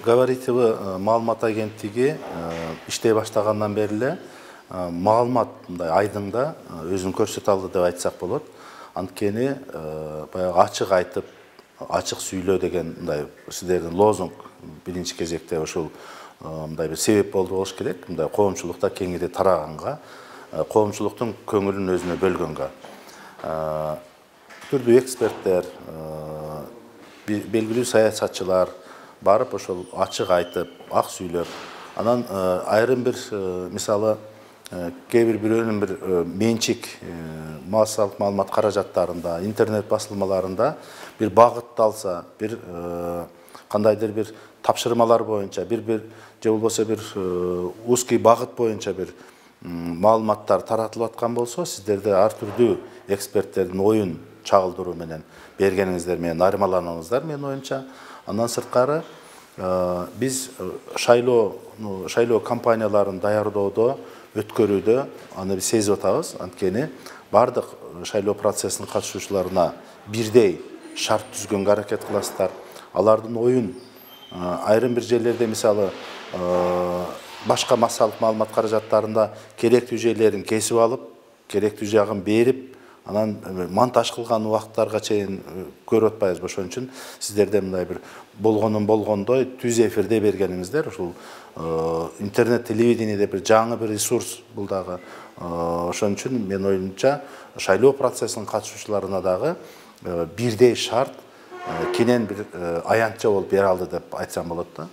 Говоритовый маалымат агенттиги иштей баштагандан бери эле маалымат мындай айдыңда өзүн көрсөтө алды деп айтсак болот. Анткени баягы ачык айтып, ачык сүйлөө деген мындай сиздердин лозунг биринчи кезекте ошол мындай бир себеп болду болуш керек. Мындай коомчулукта кеңири тараганга, коомчулуктун көңүлүн өзүнө бөлгөнгө. Түрдүү эксперттер, белгилүү саясатчылар барып ошол ачык айтып, ак сүйлөп, анан айрым бир мисалы кээ бирөөнүн бир менчик массалык маалымат каражаттарында, интернет басылмаларында бир багытты алса, бир кандайдыр бир тапшырмалар боюнча, бир же болбосо бир узкий багыт боюнча бир маалыматтар таратылып аткан болсо, сиздерде ар түрдүү эксперттердин оюн чагылдыруу менен бергениңиздер менен айырмаланыңыздар менин оюмча. Андан сырткары биз шайлоо кампанияларын даярдоодо, өткөрүүдө аны биз сезип атабыз. Анткени бардык шайлоо процессинин катышуучуларына бирдей шарт түзгөнгө аракет кыласыздар. Алардын оюн айрым бир жерлерде мисалы башка массалык маалымат каражаттарында керектүү жерлерин кесип алып, керектүү жагын берип, анан монтаж кылган убакыттарга чейин көрүп атпайбызбы. Ошон үчүн сиздерде мындай бир болгонун болгондой түз эфирде бергениңиздер, ушул интернет телевидение деп бир жаңы бир ресурс бул дагы. Ошон үчүн менин оюмча шайлоо процессинин катышуучуларына дагы бирдей шарт кенен бир аянтча болуп бере алды деп айтсам болот да.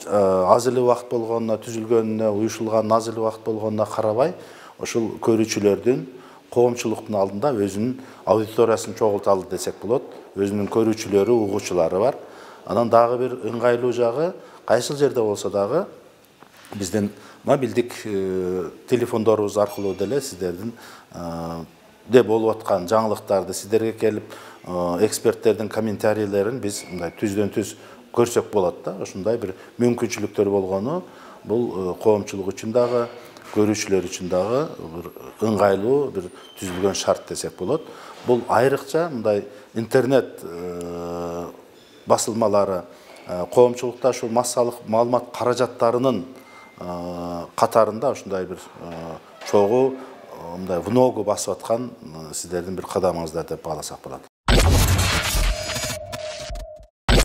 Аз эле убакыт болгонуна, түзүлгөнүнө, уюшулганына аз эле убакыт болгонуна карабай, ошол көрүүчүлөрдүн коомчулуктун алдында өзүнүн аудиториясын чогулта алды десек болот. Өзүнүн көрүүчүлөрү, угуучулары бар. Анан дагы бир ыңгайлуу жагы, кайсыл жерде болсо дагы биздин мобилдик телефондорубуз аркылуу деле сиздердин болуп аткан жаңылыктарды сиздерге келип, эксперттердин комментарийлерин биз мындай түздөн түз көрсөк болот да. Ошондой бир мүмкүнчүлүктөр болгону бул коомчулук үчүн дагы, көрүүчүлөр үчүн дагы бир ыңгайлуу бир түзүлгөн шарт десек болот. Бул айрыкча мындай интернет басылмалары коомчулукта ушул массалык маалымат каражаттарынын катарында ушундай бир чогуу мындай вногу басып аткан сиздердин бир кадамыңыздар деп бааласак болот.